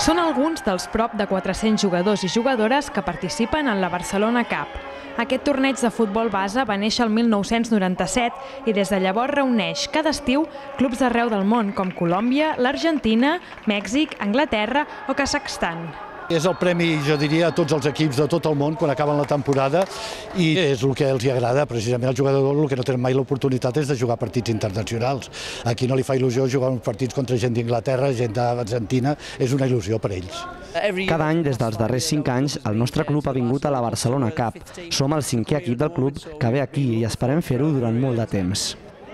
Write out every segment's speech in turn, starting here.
Són alguns dels prop de 400 jugadors i jugadores que participen en la Barcelona Cup. Aquest torneig de futbol base va néixer el 1997 i des de llavors reuneix cada estiu clubs d'arreu del món com Colòmbia, l'Argentina, Mèxic, Anglaterra o Kazakhstan. És el premi, jo diria, a tots els equips de tot el món quan acaben la temporada i és el que els agrada. Precisament els jugadors el que no tenen mai l'oportunitat és de jugar partits internacionals. Aquí no li fa il·lusió jugar uns partits contra gent d'Inglaterra, gent d'Argentina, és una il·lusió per ells. Cada any, des dels darrers 5 anys, el nostre club ha vingut a la Barcelona Cup. Som el 5è equip del club que ve aquí i esperem fer-ho durant molt de temps.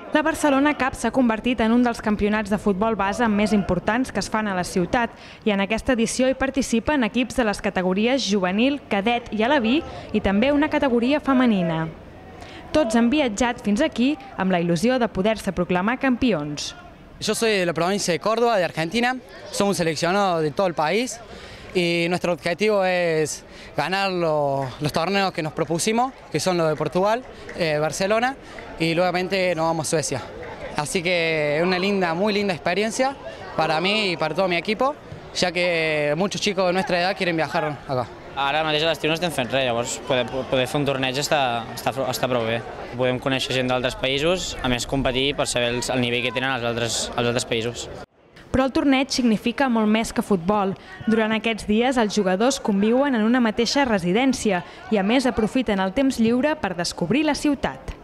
La Barcelona Cup s'ha convertit en un dels campionats de futbol base més importants que es fan a la ciutat i en aquesta edició hi participen equips de les categories juvenil, cadet i aleví i també una categoria femenina. Tots han viatjat fins aquí amb la il·lusió de poder-se proclamar campions. Yo soy de la provincia de Córdoba, de Argentina. Somos seleccionados de todo el país y nuestro objetivo es ganar los torneos que nos propusimos, que son los de Portugal, Barcelona, y luego nos vamos a Suecia. Así que es una muy linda experiencia para mí y para todo mi equipo, ya que muchos chicos de nuestra edad quieren viajar acá. Ara mateix a l'estiu no estem fent res, llavors poder fer un torneig està prou bé. Podem conèixer gent d'altres països, a més competir per saber el nivell que tenen els altres països. Però el torneig significa molt més que futbol. Durant aquests dies els jugadors conviuen en una mateixa residència i a més aprofiten el temps lliure per descobrir la ciutat.